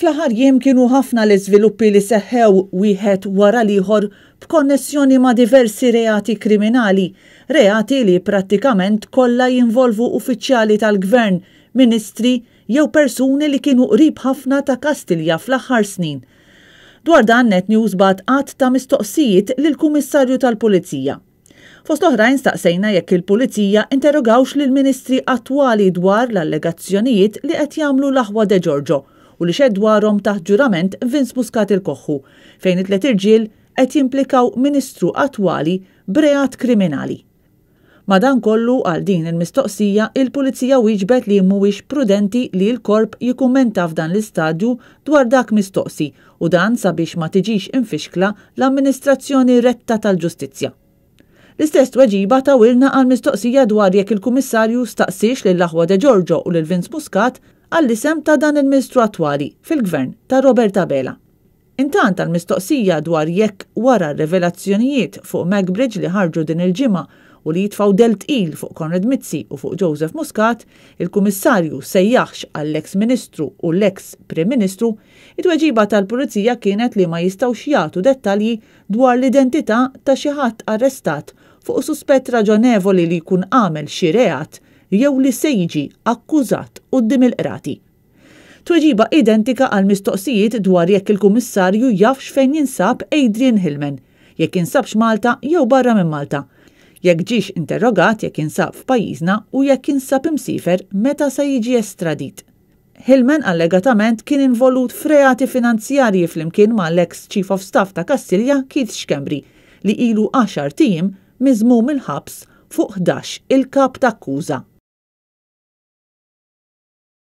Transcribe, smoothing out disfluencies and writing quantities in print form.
Fl-aħħar jiem kienu ħafna l-iżviluppi li seħħew wieħed wara l-ieħor b'konnessjoni ma' diversi reati kriminali, reati li prattikament kollha jinvolvu uffiċjali tal-Gvern, ministri jew persuni li kienu qrib ħafna ta' Kastilja fl-aħħar snin. Dwar dan Net News bagħat għadd ta' mistoqsijiet lill-Kummissarju tal-Pulizija. Fost oħrajn staqsejna jekk il-Pulizija interrogawx lill-Ministri attwali dwar l-allegazzjonijiet li qed jagħmlu l-aħwa De Giorgio u li xehed dwarhom taħt ġurament Vince Muscat il-Koħħu, fejn it-tliet irġiel qed jimplikaw Ministru attwali b'reat kriminali. Madankollu, għal din il-mistoqsija, il-Pulizija wieġbet li mhuwiex prudenti li l-Korp jikkummenta f'dan l-istadju dwar dak mistoqsi u dan sabiex ma tiġix imfixkla l-amministrazzjoni retta tal-ġustizzja. L-istess tweġiba tawilna għall-mistoqsija dwar jekk il-Kummissarju staqsiex lill-aħwa De Giorgio u lil Vince Muscat għall-isem ta' dan il-Ministru attwali fil-Gvern ta' Robert Abela. Intant għall-mistoqsija dwar jekk wara r-rivelazzjonijiet fuq Macbridge li ħarġu din il-ġimgħa u li jitfgħu dell tqil fuq Konrad Mizzi u fuq Joseph Muscat, il-Kummissarju sejjaħx għall-eks Ministru u l-eks Prim Ministru, it-tweġiba tal-Pulizija kienet li ma jistgħux jagħtu dettalji dwar l-identità ta' xi ħadd arrestat fuq suspett raġonevoli li jkun għamel xi reat jew li se jiġi akkużat quddiem il-qrati. Tweġiba identika għall-mistoqsijiet dwar jekk il-Kummissarju jafx fejn jinsab Adrian Hillman, jekk jinsabx Malta jew barra minn Malta, jekk ġiex interrogat jekk jinsab f'pajjiżna u jekk jinsab imsiefer meta se jiġi estradit. Hillman allegatament kien involut f'reati finanzjarji flimkien mal-eks Chief of Staff ta' Kastilja Keith Schembri li ilu għaxart ijiem miżmum il-ħabs fuq 11 il-kap t'akkuża.